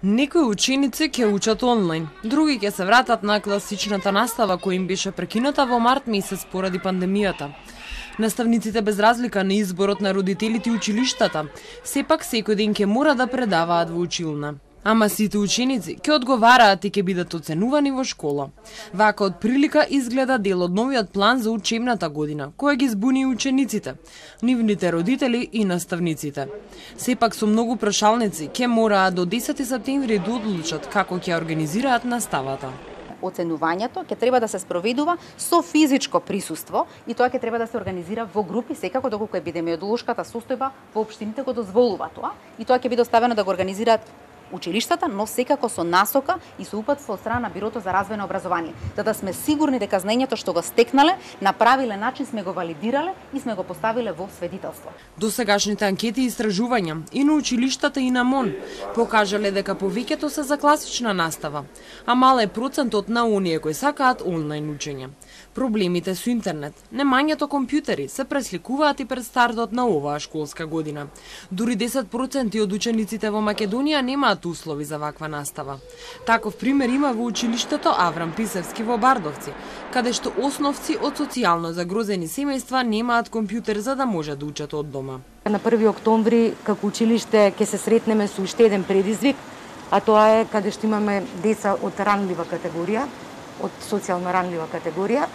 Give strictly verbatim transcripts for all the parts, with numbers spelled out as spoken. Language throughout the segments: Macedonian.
Некои ученици ќе учат онлайн, други ќе се вратат на класичната настава која им беше прекината во март месец поради пандемијата. Наставниците без разлика на изборот на родителите и училиштата, сепак секој ден ќе мора да предаваат во училна. Ама сите ученици ќе одговараат и ќе бидат оценувани во школа. Вака од прилика изгледа дел од новиот план за учебната година, која ги збуни учениците, нивните родители и наставниците. Сепак со многу прашалници ќе мораат до десети септември да одлучат како ќе организираат наставата. Оценувањето ќе треба да се спроведува со физичко присуство и тоа ќе треба да се организира во групи, секако доколку епидемиолошката состојба во општините го дозволува тоа, и тоа ќе биде оставено да го организираат училиштата, но секако со насока и со упатство од страна на Бирото за развој на образование, за да сме сигурни дека знаењето што го стекнале на правилен начин сме го валидирале и сме го поставиле во сведителство. Досегашните анкети и истражувања и на училиштата и на МОН покажале дека повеќето се за класична настава, а мал е процентот на оние кои сакаат онлайн учење. Проблемите со интернет, немањето компјутери се пресликуваат и пред стартот на оваа школска година. Дури десет проценти од учениците во Македонија немаат услови за ваква настава. Таков пример има во училиштето Аврам Писевски во Бардовци, каде што основци од социјално загрозени семејства немаат компјутер за да може да учат од дома. На први октомври како училиште ќе се сретнеме со уште еден предизвик, а тоа е каде што имаме деца од ранлива категорија, од социјално ранлива категорија,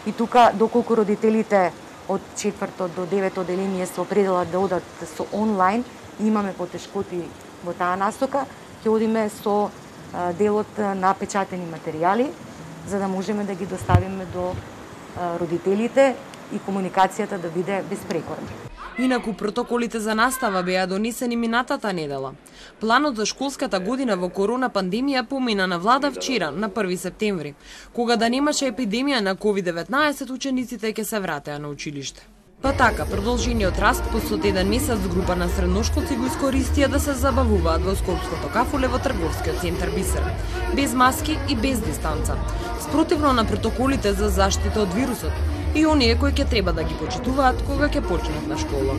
и тука доколку родителите од четврто до девето одделение се определат да одат со онлайн и имаме потешкоти во таа насока, ќе одиме со делот на печатени материјали, за да можеме да ги доставиме до родителите и комуникацијата да биде безпрекорна. Инаку протоколите за настава беа донесени минатата недела. Планот за школската година во корона пандемија помина на влада вчера, на први септември, кога да немаше епидемија на ковид деветнаесет, учениците ќе се вратеа на училиште. Па така, продолжениот распуст од еден месец група на средношколци го искористија да се забавуваат во Скопското кафуле во трговскиот центар Бисер, без маски и без дистанца, спротивно на протоколите за заштита од вирусот и оние кои ќе треба да ги почитуваат кога ќе почнат на школа.